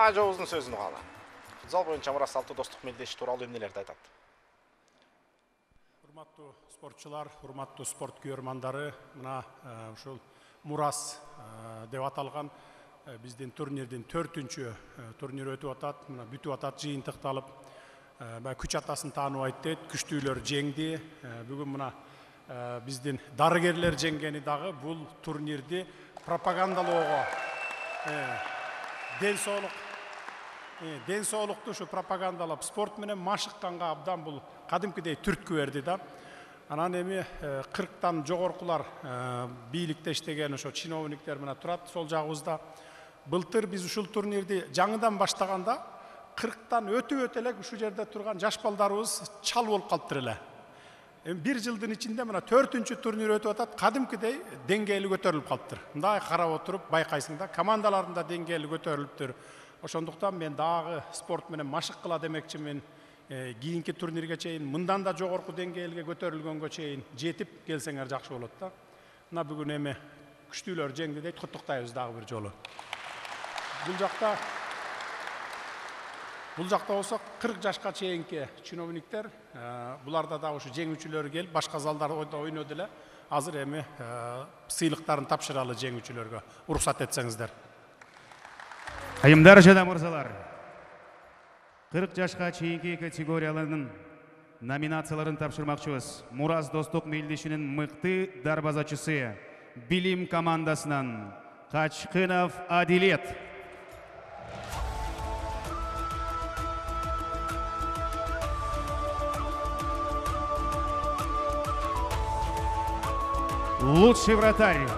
Ажообуздун сөзүн угалы. Футзал боюнча Мурас Алты достук мелдеши тууралуу эмнелерди айтат? Урматтуу спортчулар, урматтуу спорт күйөрмандары, мына ушул Мурас деп аталган биздин турнирдин 4-түнчү турнир өтүп атат. Мына бүтүп атат, жыйынтыкталып. Күч атасын тааныбайт дейт, күчтүүлөр жеңди. Бүгүн мына биздин дарыгерлер жеңгени дагы бул турнирди пропагандалоого, ден соолукту ушу пропагандалап, спорт менен машыкканга абдан бул кадимкидей түрткү берди да. Анан эми 40тан жогоркулар бийликте иштеген ошо чиновниктер мына турат сол жагыбызда. Былтыр биз ушул турнирди жаңыдан баштаганда 40тан өтүп элек ушул жерде турган жаш балдарыбыз чал болуп калыптыр эле. Бир жылдын ичинде мына 4-түнчү турнир өтүп атат, кадимкидей деңгээли көтөрүлүп калыптыр. Мындай карап отуруп байкайсың да, командалардын да деңгээли көтөрүлүптүр. Ошондуктан мен дагы спорт менен машыккыла демекчимин. Кийинки турнирге чейин мындан да жогорку деңгээлге көтөрүлгөнгө чейин жетип келсеңер жакшы болот да. Мына бүгүн эми күчтүүлөр жеңди дейт, куттуктайбыз дагы бир жолу. Бул жакта болсо 40 жашка чейинки чиновниктер, буларда да ушу жеңүүчүлөр келип, башка залдарда ойноду эле. Азыр эми сыйлыктарын тапшыралы жеңүүчүлөргө. Уруксат этсеңиздер. Айымдар жана мырзалар, 40 жашка чейинки категорияларынын номинацияларын тапшырмакчыбыз. Мурас достук мелдешинин мыкты дарбазачысы, Билим командасынан Качкынов Адилет. Лучший вратарь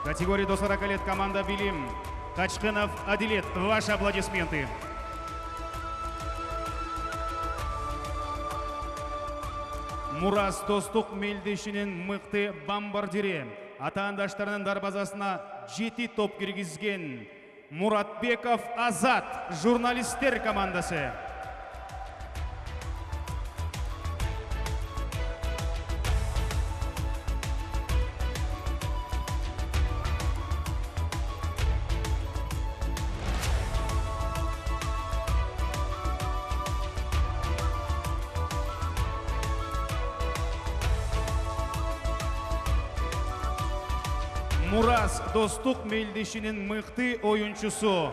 категории до 40 лет команда Билим. Качкынов Адилет. Ваши аплодисменты. Мурас достук мелдешинин мыкты бомбардири. Атаандаштарынын дарбазасына 7 топ киргизген Муратбеков Азат, журналисттер командасы. Мурас достук мелдешинин мыкты оюнчусу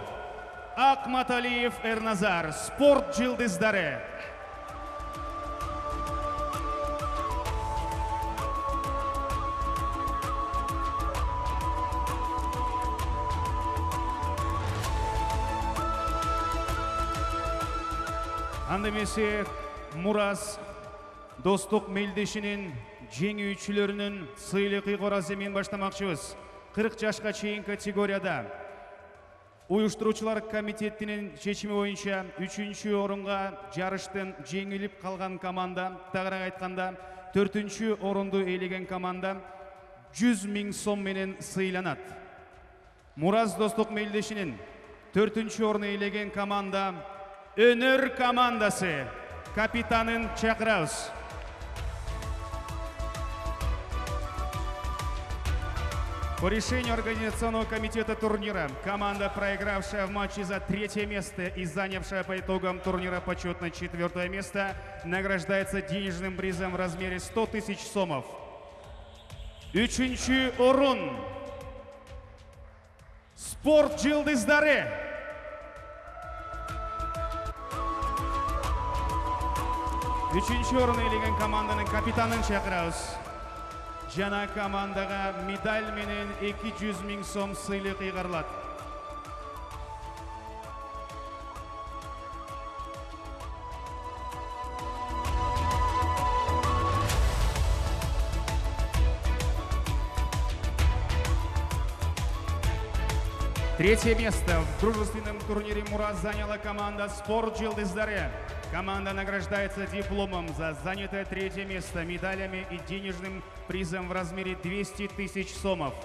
Акматалиев Эрназар, спорт жылдыздары. Анда эмесе Мурас достук мелдешинин жеңүүчүлөрүнүн сыйлык ыйгарасы менен баштамакчыбыз. 40 жашка чейин категорияда уюштуруучулар комитетинин чечими боюнча 3-чү орунга жарыштын жеңилип калган команда, тагыраак айтканда 4-чү орунду ээлеген команда 100 000 сом менен сыйланат. Мурас достук мелдешинин 4-чү орун ээлеген команда Өнөр командасы. Капитанын чакырабыз. По решению организационного комитета турнира, команда, проигравшая в матче за 3-е место и занявшая по итогам турнира почетно 4-е место, награждается денежным призом в размере 100 000 сомов. 3-чү орун. Спорт жылдыздары. Үчүнчү орун ээлеген команданын капитанын чакырабыз. Жана командага медаль менен 200 000 сом сыйлык ыйгарылат. Третье место в дружественном турнире Мурас заняла команда «Спорт Жылдыздары». Команда награждается дипломом за занятое 3-е место, медалями и денежным призом в размере 200 000 сомов.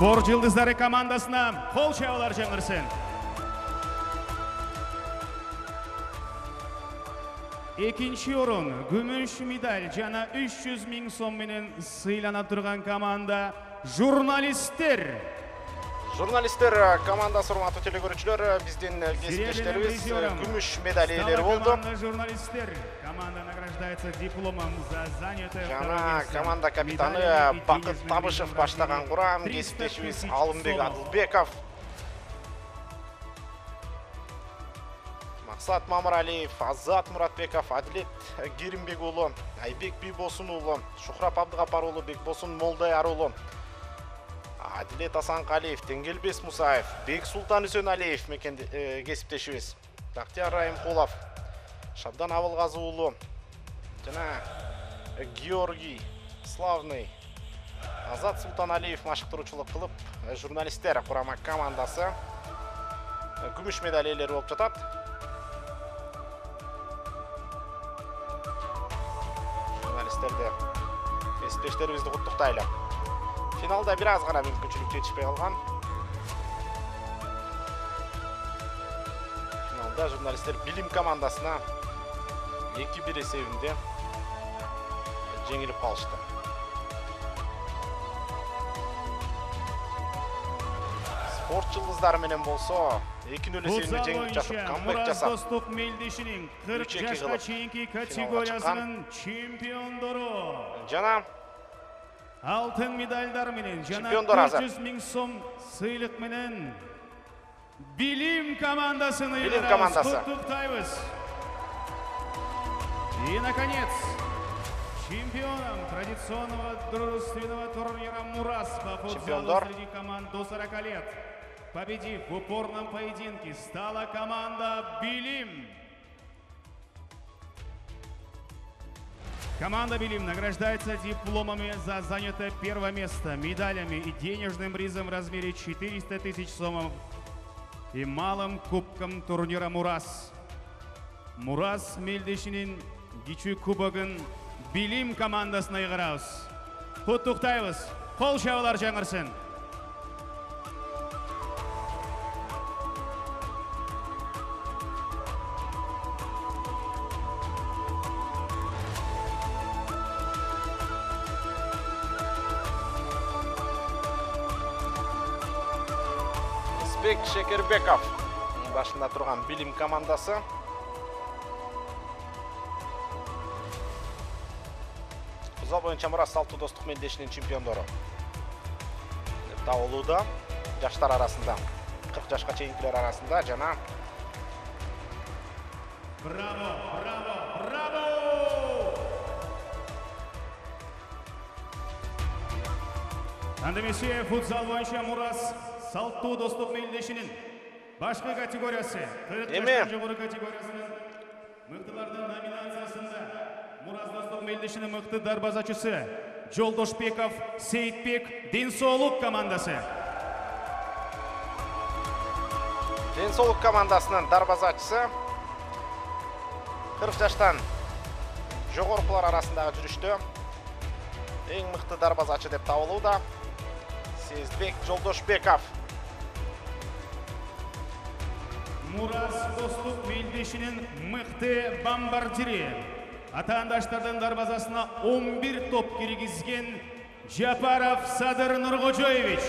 Спорт жылдыздары командасына кол чабуулар жаңырсын. Экинчи орун күмүш медаль жана 300 000 сом менен сыйлана турган команда журналисттер. Журналисттер командасы, урматтуу телекөрүүчүлөр, биздин кесиптештерибиз күмүш медаль ээлери болду. Журналисттер команда награждается дипломом за занятое. Жана команда капитаны Бакыт Табышев баштаган курам кесиптешибиз Алымбек Адылбеков, Максат Мамыралиев, Азат Муратбеков, Адилет Керимбек уулу, Айбек Бийбосун уулу, Шухрап Абдыгапар уулу, Бекбосун Молдаяр уулу, Адилет Асанкалиев, Тенгелбес Мусаев, Бек Султан Үсөналиев кесиптешибиз, Бактияр Райымкулов, Шабдан Абылгазы уулу, жана Георгий Славный, Азат Султаналиев машыктыруучулук кылып, журналисттер курама командасы күмүш медаль ээлери болуп жатат. Журналисттерди, кесиптештерибизди куттуктайлы. Финалда бир аз гана мүмкүнчүлүк жетишпей калган. Финалда журналисттер Билим командасына 2-1 эсебинде жеңилип калышты. Спорт жылдыздары менен болсо 2-0 эсебинде жеңилип жатып, камбэк жасап, Достук Мелдешинин 40 жашка чейинки категориясынын чемпиондору. Жана Алтын медальдар менен жана 400 000 сом сыйлык менен Билим командасын куттуктайбыз. И, наконец, чемпионом традиционного дружественного турнира «Мурас» по футзалу среди команд до 40 лет, победив в упорном поединке, стала команда «Билим». Команда «Билим» награждается дипломами за занятое первое место, медалями и денежным призом в размере 400 000 сомов и малым кубком турнира «Мурас». «Мурас» Мелдешинин кичүү кубогун «Билим» командасына ыйгарабыз. Куттуктайбыз. Кол чабуулар жаңырсын. Бек Шекербеков башында турган Билим командасы. Футзал боюнча Мурас Салттуу Достук Мелдешинин чемпиондору деп табылууда. Жаштар арасында 40 жашка чейинкилер арасында жана Браво, браво, браво! Андемесе футзал боюнча Мурас Салттуу Достук Мелдешинин башкы категориясы 40 жаштан жогору категориясынын мыктылардын номинациясында Мурас Достук Мелдешинин мыкты дарбазачысы Жолдошбеков Сейитбек Ден соолук командасы. Ден соолук командасынын дарбазачысы 40 жаштан жогорукулар арасындагы жүрүштө эң мыкты дарбазачы деп табылууда Сейитбек Жолдошбеков. Мурас Достук Мелдешинин мыкты бомбардири. Атаандаштардын дарбазасына 11 топ киргизген Жапаров Садыр Нуркожоевич.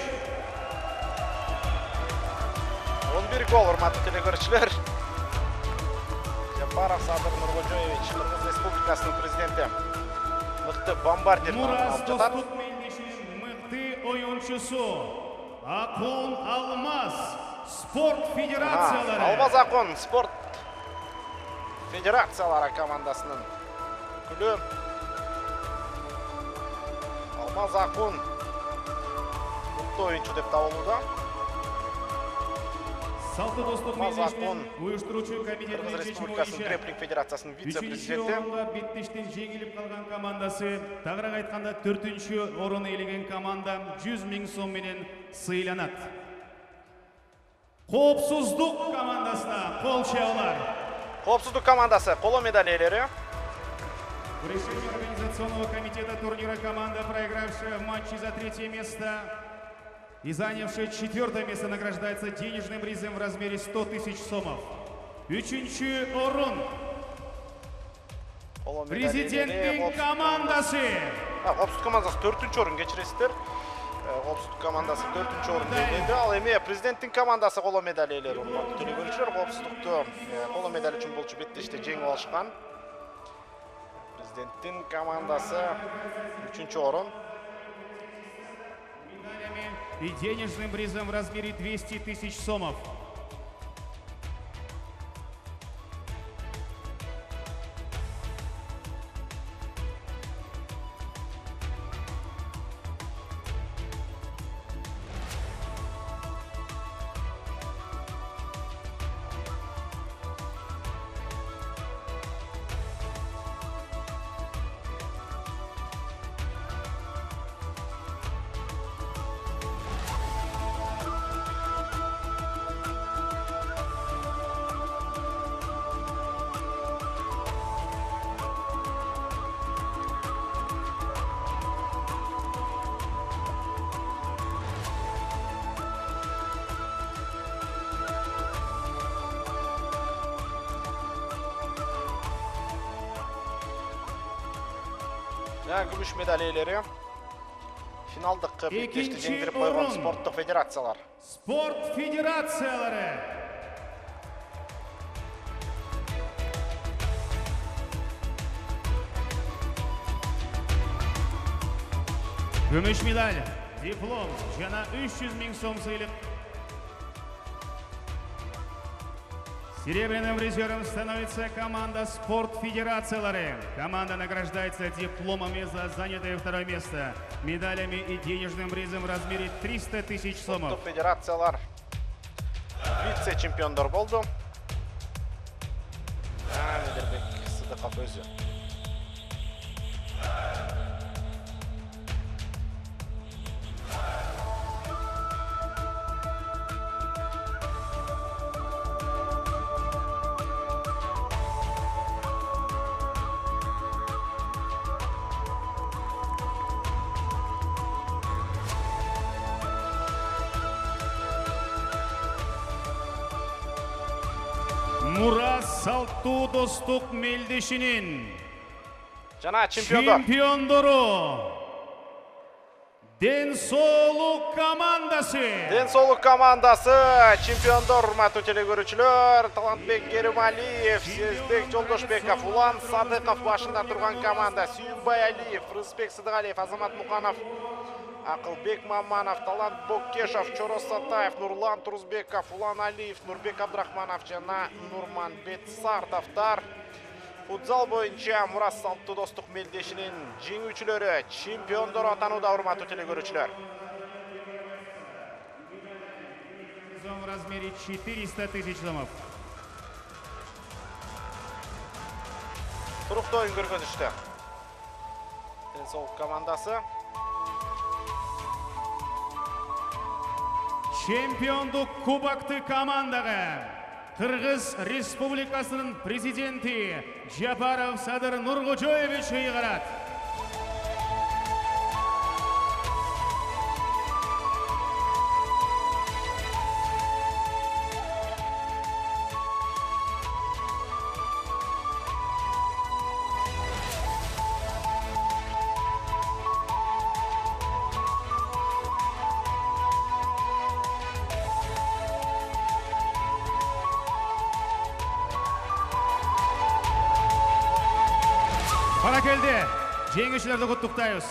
11 гол, урматтуу телекөрүүчүлөр. Жапаров Садыр Нуркожоевич, Кыргыз Республикасынын президенти. Мыкты бомбардир. Мурас Достук Мелдешинин мыкты оюнчусу Акон Алмаз спорт федерациялары. Алмаз Акон спорт федерациялары командасынын өкүлү. Алмаз Акон мыкты оюнчу деп табылууда. Салттуу Достук Мелдешинин уюштуруучу комитетинин Кыргыз чечими Республикасынын боюнча греплинг федерациясынын вице-президенти. 3-чү орунга Беттиштин жеңилип калган командасы, тагыраак айтканда 4-чү орун ээлеген команда 100 000 сом менен сыйланат. Коопсуздук командасына кол чабуулар. Коопсуздук командасы коло медаль ээлери. В решении организационного комитета турнира команда, проигравшая в матче за 3-е место, И занявший 4-е место награждается денежным призом в размере 100 тысяч сомов. Үчүнчү орун. Президенттин командасы. Коопсуздук командасы 4-чү орун, кечиресиздер. Коопсуздук командасы 4-чү орун ээледи. Ал эми президенттин командасы коло медаль ээлери. Урматтуу телекөрүүчүлөр, коопсуздукту коло медаль үчүн болчу беттеште жеңип алышкан. Президенттин командасы 3-чү орун. И денежным призом в размере 200 тысяч сомов. Күмүш медаль ээлери. Финалдык беттешти жеңдирип койгон спорттук федерациялар. Спорт федерациялары. Күмүш медаль, диплом жана 300 000 сом сыйлык. Серебряным призером становится команда «Спорт федерациялары». Команда награждается дипломами за занятое 2-е место, медалями и денежным призом в размере 300 тысяч сомов. Спорттук федерациялар вице-чемпиондор болду. Медербек Сыдыков өзү. Мураз Салттуу достук мелдешинин жана чемпиондору Ден соолук командасы. Ден соолук командасы чемпиондор, урматтуу телекөрүүчүлөр. Талантбек Керималиев, Сезбек Жолдошбеков, Улан Садыков башында турган команда. Сүйүнбай Алиев, Рызбек Сыдыгалиев, Азамат Муканов, Акылбек Маманов, Талант Боккешов, Чорос Сатаев, Нурлан Турузбеков, Улан Алиев, Нурбек Абдрахманов жана Нурманбет Сартовдор. Футзал боюнча Мураз Салттуу достук мелдешинин жеңүүчүлөрү, чемпиондор атанууда, урматтуу телекөрүүчүлөр. В размере 400 тысяч сомов. Туруктуу оюн көргөнүштө. Ден соолук командасы. Чемпиондук кубокты командага Кыргыз Республикасынын президенти Жапаров Садыр Нуркожоевич ыйгарат. Баракелде, жеңүүчүлөрдү куттуктайбыз.